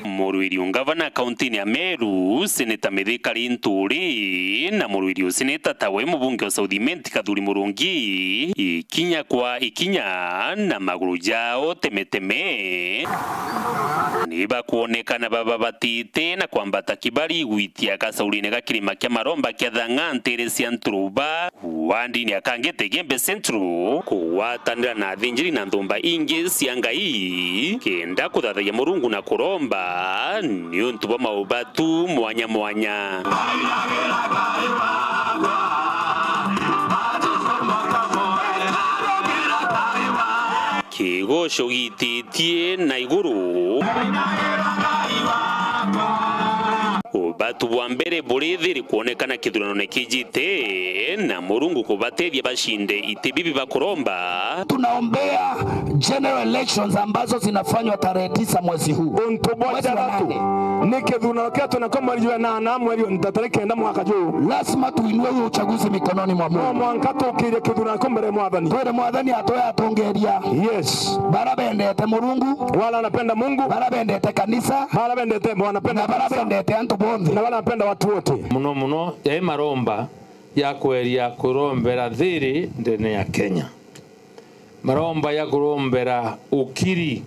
Muruiri wa ngavana kauntini ya Meru, Seneta Mithika Linturi, na muruiri wa seneta tawe mubunge wa South Imenti Kathuri Murungi, ikinya kwa ikinya na maguru jao temeteme, ni bakwonekana bababatite na kwambata kibari gwitia gacaurine ga kirima kia maromba kia Thang'a ntere cia Nturuba. Wandini akangite Igembe Central, kugwatanira na athinjiri na nthumba ingi cia Ngai, kenda kuthathagia Murungu na kuromba niuntu bwa maubatu mwanya mwanya. Kigoco gititie na iguru. Ubatu bwa mbere buri thiri kwonekana kithuranone kijite, na Murungu kubatethia bacinde iti bibi bakuromba. Tunaombea general elections ambazo zinafanywa tarehe tisa mwezi huu. Untu bwa Mwezi wa jathatu nane. Ni kithurano kia tuna kwa mweri wa nana, mweri wa tariki kenda mwaka juu. Lazima tuinue huo uchaguzi mikononi mwa Mungu. No mwanka tukirie kithurano kwa mbere ya Mwathani. Twire Mwathani atoe atongeria. Yes. Bara bendete Murungu. Wala anapenda Mungu. Bara bendete kanisa. Wala bendete, wanapenda Na bara kanisa. Bendete antu bonthe. Na wala anapenda watu wote. Muno muno, yai maromba ya kweria kurombera thiri ndene ya Kenya. Maromba ya kurombera ukiri.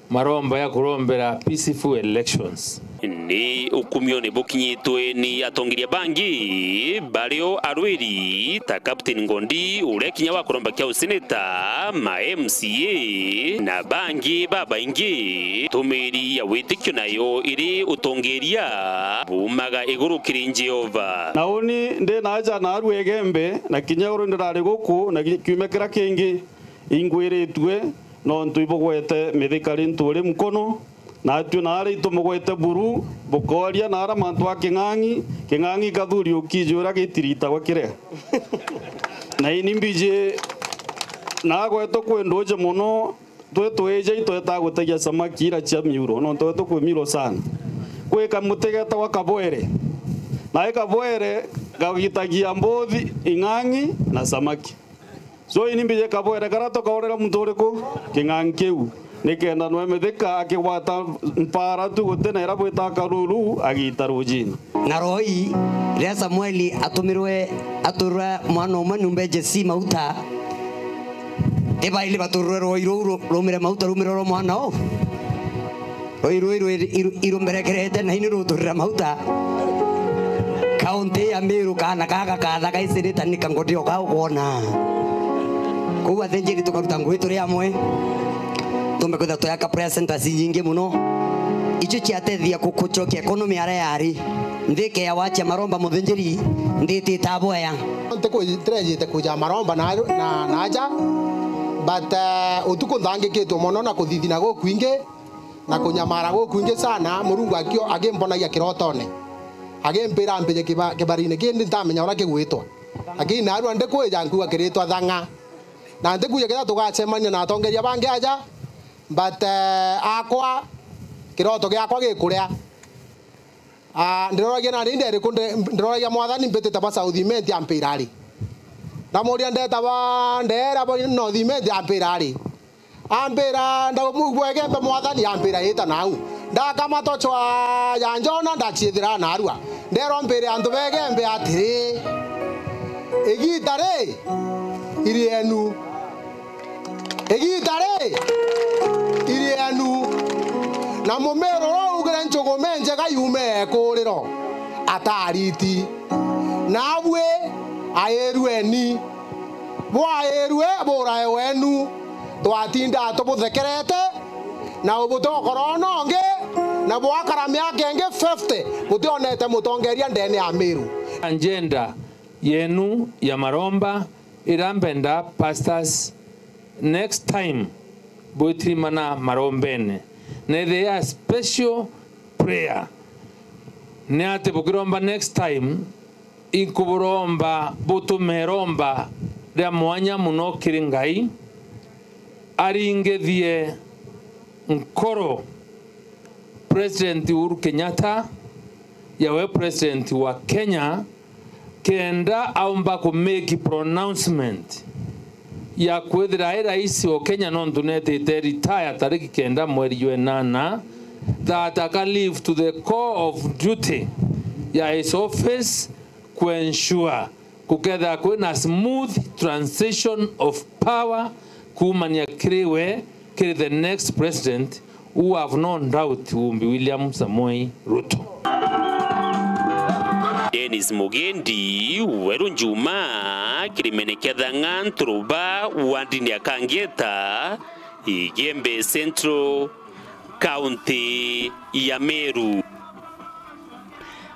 Maromba ya kurombera peaceful elections. Ni ukumione bukinyitwe ni atongeria bangi, bario arwiri ta Captain Ngondi, uria kinya wa kuromba kia useneta, ma M C A, na bangi babaingi. Tumiri ya witikio nayo iri utongeria bumaga iguru kiri Jehova. Na uni ndi na aja na aru Igembe, na kinya uru ndirari guku, na ki-, kiumia kiria kingi ingwiritue, nontu ibugwete Mithika Linturi nkono, Natwe naara itumugwete buru, bukooria naara mantu a king'ang'i, king'ang'i kathuri ukiji uria gitiritagwa kiria. Na ini mbiji nagwetwe kwi nduji mono, twi twiji itwetaa gutegia samaki ira cia miuro, nontu gwetu kwi miuro sana. Kwi kamuti getagwa kabwere. Nae kabwere gagitagia mbuthi, ing'ang'i na samaki. So, ini mbiji kabwere karia tukaurira muntu uriku? King'ang'i kiu. Nikenda nwe mithika akigwata mpara tu guti na ira bwita karuru, agiita rujini. Na roi, riria Samueli atumirwe, aturwe mwana umwe nyumba ya Jesi mauta, ibaili baturwe roi ruu ru-, rumire mauta rumire rwa mwana uu. Rui rui rwi iru-, irumberekerete na ini ruturira mauta. Kaunti ya Meru, kaana kaa gakathaka icinita ni kangoti o kaa ukwona. Kou athinjiri tukaruta ngugi turi amwe. Tumbe kwithirwa tuyaka prayer centers inyingi mono. Icio ciatethia ku-, kucokia economy aria yari. Nthi ikeya wacia maromba muthinjiri, nthi itita bwea. Ntiku-, ntirejite kuja maromba na, na, na aja, but, eh, utuku nthangikitwe mono na kuthithina gukwingi. Na kunyamara gukwingi sana, Murungu akio-, akimbonagia kirotone. Akimpira mpije kiba-, kibarine kindi ntamenya uria kigwitwa. Lakini narua ndikwija nkuga kiritwa Thang'a. Na ntikuja kethira tugacemania na atongeria bangi aja, but, eh, akwa, kiroto giakwa gikuria. Ah, ndiroragia nani nderiku nde-, ndiroragia mwathani mbitite ba South Imenti ampira ari. Ndamuria ndeta ba ndera ba North Imenti ampira ari. Ambira, "Ndaumugua Igembe mwathani," ambira, "Ita nau." Ndakamata ucwa ya Njona, ndaciithira narua. Nderwa mpire antu ba Igembe atiri, "Igiita ri iri enu. Igiita ri iri enu. Na mumiru uria ugire nchugume njega yume ekuriro, atariti. Nabui airueni." Bwairue burae wenu, twatinda tubuthekerete, na ubutokora nongi, na bwakara miaka ingi fifty, butionete mutongeria ndene ya Meru. Agenda yenu ya maromba ira mbenda pastors next time bwitirimana marombene, na ithia special prayer. Ni ati bukiromba next time, inkuburomba butume iromba ria mwanya mono kiri Ngai, aringithie nkoro President Uhuru Kenyatta, yawe President wa Kenya, kenda aumba ku make pronouncement ya kwithira ai rais o Kenya, nontu netite retire tariki kenda mweri jwa inana, that aka live to the core of duty ya his office, ku ensure kukethira kwina smooth transition of power kuumania kiri we kiri the next president, who have no doubt will be William Samoei Ruto. Dennis Mugendi, Weru Njuma, kirimene kia Thang'a, Nturuba, wandini ya Kangeta, Igembe Central, kaunti ya Meru.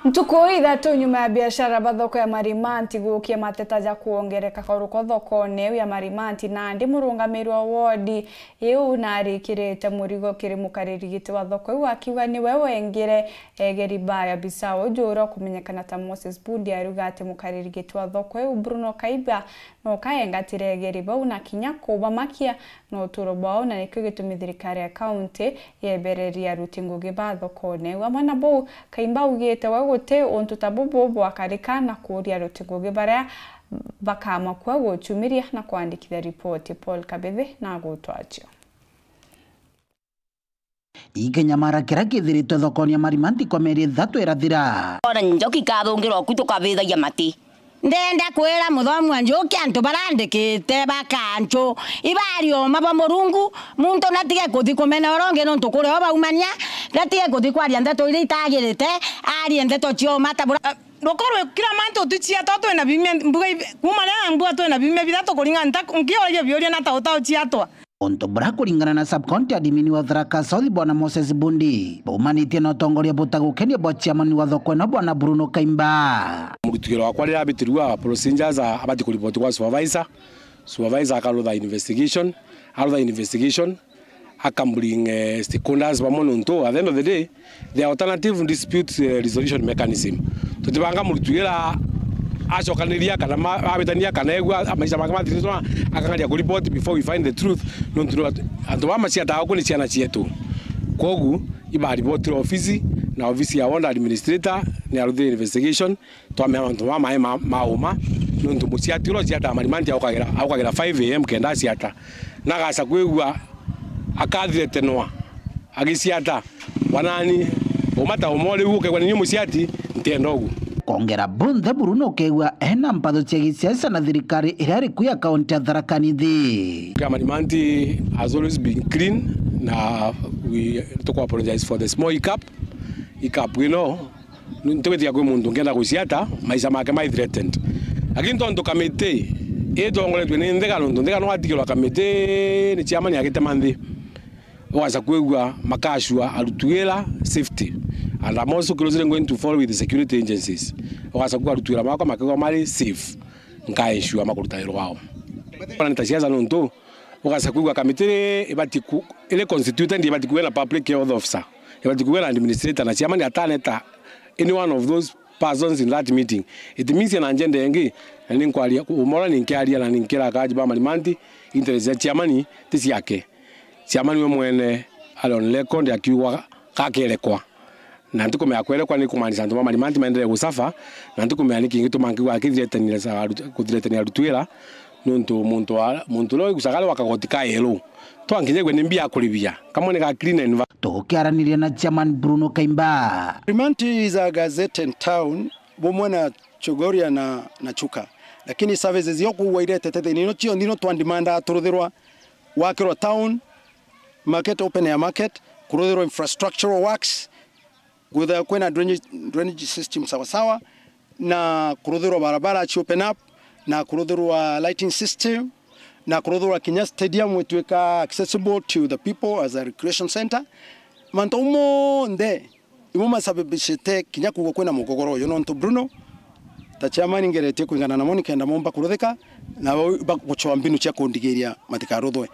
Ntuku ithatu nyuma ya biashara ba thoko ya Marimanti gukia mateta ja kwongereka kwa ruko thokone iu ya Marimanti, nandi murungamiri wa wodi iu narikirite murigo kiri mukariri giti wa thoko iu akiuga niwe wengire egeri baa ya Bisau uju uria ukumenyekana ta Moses Bundi ariuga ati mukariri giti wa thoko iu Bruno Kaiba no kaengatire egeri bau na kinya kubamakia na uturo bwao, na nikio gitumi thirikari ya kaunti yebereria aruti ngugi ba thokone. Amwe na bau, Kaimba augite we guti untu ta bubu bwakarika na kuuria aruti ngugi baria bakamakua guchumiria na kwandikithia ripoti. Paul Kabithi na agutwachio. Ikinyamara kiria kithiritwe thokoni ya Marimanti kwa mieri ithatu irathira. Ona njoki ikathungirwa ku tukabithagia mati. Ndenda kwira muthomi wa njuki antu barandikite bakanchu ibari oma ba Murungu, muntu natige kuthi kumena uria ungi nontu kuri o baumania, natige kuthi kwaria ndeto iria itagirite, arie ndeto cia uma ta bura. Ruko rwi kira mantu tuciatwa twina biumia, mbuga ibi-, kuuma riria mbuga twina biumia bithatu kuringa nta nkiuria biuria na ta utauciatwa. Untu bura kuringana na sub-county admin wa Tharaka South Bwana Moses Bundi, baumanitie na utongoria butagukenia bwa chairman wa thoko ino Bwana Bruno Kaimba. Murutigiro wakwa riria abitirua procedures abati kuripoti kwa supervisor, supervisor akarutha investigation, arutha investigation, Akambring, eh, stakeholders bamwe nontu, at the end of the day, the alternative dispute, eh, resolution mechanism. Tutibanga murutu ira acokaniria kana ma-, abitania kana egua maisha make mathiritwe, akangaria ku report before we find the truth. Nontu antu baa maciataga ku ni ciana cietu. Kwogu, iba report ofisi, na ofisi ya ward administrator ni aruthire investigation, twamenya mantu mama mai ma, ma uma, nontu muciati uria uciataga Marimanti aukagira, aukagira five a m kenda aciata. Na agaca kwigua akathretenwa agiciata, wanani, uma ta uma uriu ukegwa ni niu muciati, ntienda ugu. Kwongera bonthe, Bruno ukegua ena mpatho cia gisiasa na thirikari iria iri ku ya kaunti ya Tharaka Nithi. Kia Marimanti has always been clean, na we, tuku apologize for the small hiccup. Hiccup ino, ntigwitikia kwi muntu ngienda guciata, maisha make mai threatened. Lakini tontu kamiti itongoretue ni Nthika, nontu Nthika no atigirwa kamiti ni chairman agitema nthi, ugaca kwigua makacua arutu wira safety. And I'm also closely going to follow with the security agencies. Ugaca kwigua arutu wira makwa makigwa mari safe, nkaensure makuruta wira wao. Ona ni ta siasa nontu, ugaca kwigua kamiti iri ibati ku-, iri constituted, ibati kuga na public health officer, ibati kuga na administrator na chairman ataneta any one of those persons in that meeting. It means ena agenda ingi, na ni nkwaria, umora ni nkiaria na ni nkira akaji ba Marimanti, interest ya chairman ti ciake. Chairman we mwene ari on record akiuga gakerekwa. Na ntikumenya kwerekwa ni kumaanisha antu ba Marimanti maendelee gusafa, na ntikumenya ni kingi gituma nkiuga akithiretania sa arutu-, kuthiretania arutu wira, nontu muntu wa, muntu uria wigucaga ari wa kagoti ka yellow. Twankinyagua ni mbia akuribia, kamwe ni ga clean environment. Tukiaraniria na chairman Bruno Kaimba. Marimanti is a gazetted town, bumwe na Chogoria na, na Chuka. Lakini services cio kugwa iretete thini ino cionthe ino twandimandaa turuthirwa gwakirwa town, market, open air market, kuruthirwa infrastructural works, kwithirwa kwina drainage, drainage system sawasawa, na kuruthirwa barabara ci open up, na kuruthirwa lighting system, na kuruthirwa kinya stadium itwika accessible to the people as a recreation center. Mantu monthe imo masababishite kinya kugwa kwina mugogoro uyu, nontu Bruno, ta chairman, ngeretie kwingana namo nikenda momba kuruthika, na bo bagucwa mbinu cia kundigiria matikaruthwe.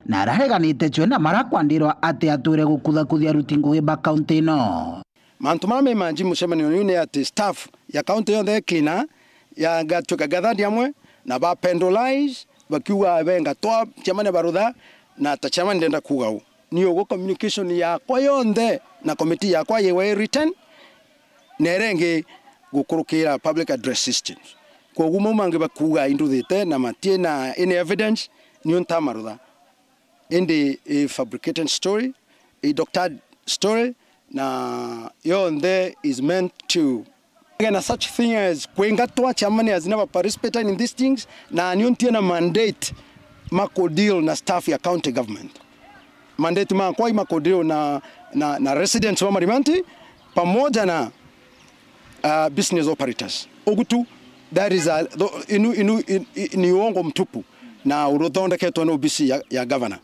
Na arareganite cwe na marakwandirwa ati atwire gukuthakuthia aruti ngugi ba kaunti ino. Mantu mara me manji mucemanio uyu ni ati staff ya kaunti yonthe cleaner ya gatwika gathandi amwe na ba pendolize bakiuga benga twa chairman barutha, na ta chairman ndenda kuuga u. Ni uguo communication yakwa yonthe na committee yakwa yewa i written, na iria ingi gukurukira public address systems. Kwoguo mau mangi bakuuga induthite na matie na any evidence, niu ntamarutha. Indi i fabricated story, i doctored story, na yonthe is meant to Again, a such thing as kwingatwa, chairman has never participated in these things, na niu ntiena mandate ma ku deal na staff ya county government. Mandate makwa i ma ku deal na, na, na residents wa Marimanti pamoja na, uh, business operators. Ugu tu, that is a, tho-, inu, inu, in, i-, ni uongo mtupu na uthondeketwe ni obisi ya, ya governor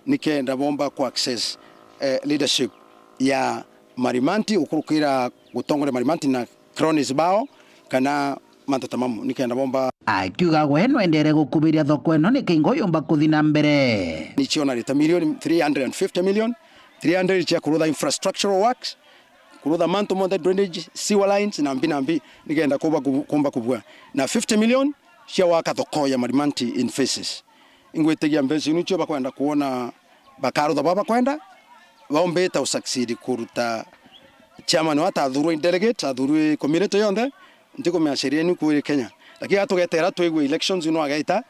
nikenda bomba ku access, eh, leadership ya Marimanti, gukurukira gutongoria Marimanti na cronies bao kana mantu ta mamu, nikenda bomba. Akiuga gwe no endeere gukubiria thoko ino nikingo yumba kuthi na mbere. Nicio na rita milioni three hundred and fifty million, three hundred cia kurutha infrastructural works, kurutha mantu monthe, drainage, sewer lines na mbi na mbi, nikenda kumba ku-, kumba kubua. Na fifty million cia waka thoko ya Marimanti in phases. Ingwitigia mbeca iu nicio bakwenda kwona bakarutha baba bakwenda, baumbite u succeed kuruta chairman wa atathurwe i delegate, athurwe community yonthe, ntikumenya sheria ni kwiri Kenya. Lakini atugetera twigwe elections ino agaita,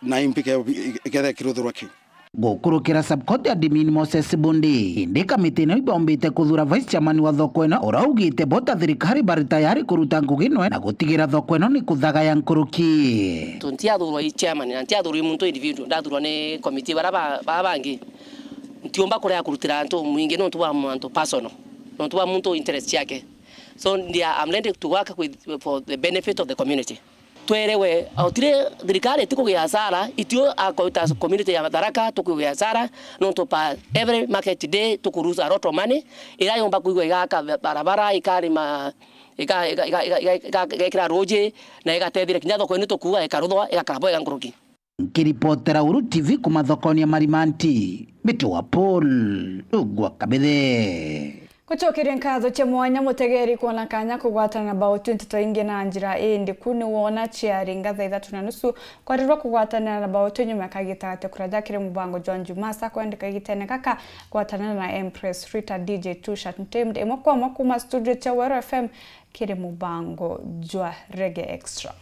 na imbi ke-, ikethe kiruthurwa kiu. Gukurukira sub-court admin Moses Bundi, indi kamiti ino ibaumbite kuthura vice chairman wa thoko ino, uraugite bo ta thirikari bari tayari kuruta ngugi nwe na gutigira thoko ino ni kuthagaya nkuruki. Tu ntiathurwa i chairman, na ntiathurwa i muntu individual, ndathurwa ni committee bara ba-, ba bangi. Ntiumba kurea kurutira antu mwingi nontu bwa antu personal, nontu bwa muntu interest ciake. So, ndia, I'm ready to work with, for the benefit of the community. Twerewe, otire thirikari itikugia hasara, itio akoita community ya Tharaka tukugia hasara, nontu pa every market day tuku lose a lot of money, ira yomba kwigwa igaka barabara, ikarima, ika-, ika-, igekira ruji, na igatethira kinya thoko ini tukuga ikaruthwa, igakara bwega nkuruki. Nkiripotera Uru T V kuma thokoni ya Marimanti, Mbito wa Paul, Ugwa Kabithe. Gucokeria nkatho cia mwanya mutegeri kwona kanya kugwatana na bao twenty twaingi na njira indi ku ni wona ciari ngatha ithatu na nusu kwarirwa kugwatanira na bao twenty nyuma ya kagita gati kuraja kiri mubango jwa Njumasa kwendeka igitene gaka gwatanana na Empress Rita D J Tushat Ntimd imwe kwa imwe kuma studio cia Weru F M kiri mubango jwa Reggae Extra.